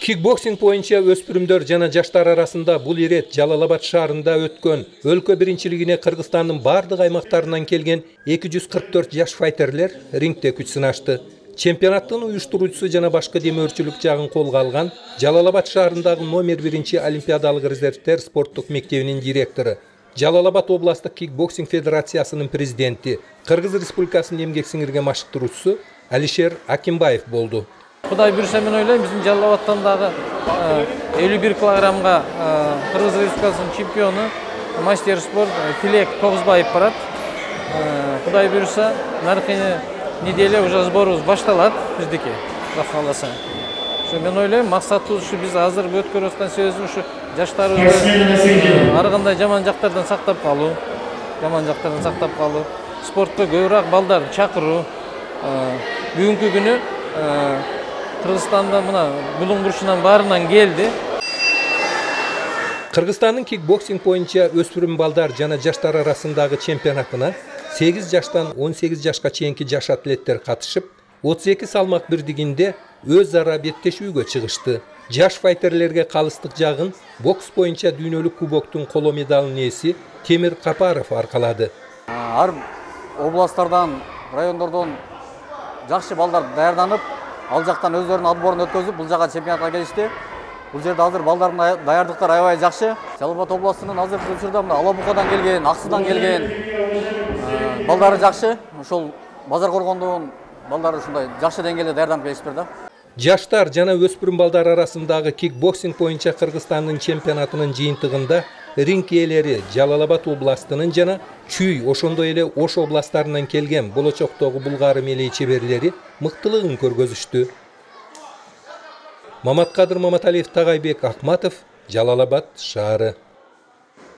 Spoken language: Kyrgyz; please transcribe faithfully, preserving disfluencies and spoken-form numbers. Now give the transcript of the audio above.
Кикбоксинг боюнча өспүрүмдөр жана жаштар арасында бул ирет Жалал-Абад шаарында өткөн өлкө биринчилигине Кыргызстандын бардык аймактарынан келген эки жүз кырк төрт жаш файтерлер рингде күч сынашты. Чемпионаттын уюштуруучусу жана башкы демөөрчүлүк жагын колго алган Жалал-Абад шаарындагы номер биринчи олимпиадалык резервдер спорттук мектебинин директору, Жалал-Абад областык кикбоксинг федерациясынын президенти, Кыргыз Республикасынын эмгек сиңирген машыктыруучусу Алишер Акимбаев болду. Кудай буйруса мен ойлойм, биздин Жалал-Абадтан дагы элүү бир килограммга Кыргыз Республикасынын чемпиону, мастер спорт Тилек Тогузбаев барат. Кудай буйруса, наркы неделе уже сборубуз башталат биздики, Алла кааласа. Ошо мен ойлойм, максатыбыз ушу биз азыр өткөрүп аткан себебибиз ушу жаштарыбызды ар кандай жаман жактардан сактап калуу, жаман жактардан сактап калуу, спортко көбүрөөк балдарды чакыруу. Бүгүнкү күнү Кыргызстанда мына булуң бурчунан баарынан келди. Кыргызстандын кикбоксинг боюнча өспүрүм балдар жана жаштар арасындагы чемпионатына сегиз жаштан он сегиз жашка чейинки жаш атлеттер катышып, отуз эки салмак бирдигинде өз ара беттешүүгө чыгышты. Жаш файтерлерге калыстык жагын бокс боюнча дүйнөлүк кубоктун коло медалынын ээси Темир Капаров аркалады. Ар областтардан, райондордон жакшы балдар даярданып, ал жактан өздөрүнүн отборун өткөзүп, бул жака чемпионатка келишти. Бул жерде азыр балдардын даярдыктары аябай жакшы. Жалал-Абад областынын азыркы учурда мына Алабукадан келген, Аксудан келген балдары жакшы. Ошол Базар Коргондун балдары ушундай жакшы деңгээлде даярданып келишиптир да. Жаштар жана өспүрүм балдар арасындагы кикбоксинг боюнча Кыргызстандын чемпионатынын жыйынтыгында ринг ээлери Жалал-Абад областынын жана Чүй, ошондой эле Ош областтарынан келген болочоктогу булгары мелей чеберлери мыктылыгын көргөзүштү. Маматкадыр Маматалиев, Тагайбек Акматов, Жалал-Абад шаары.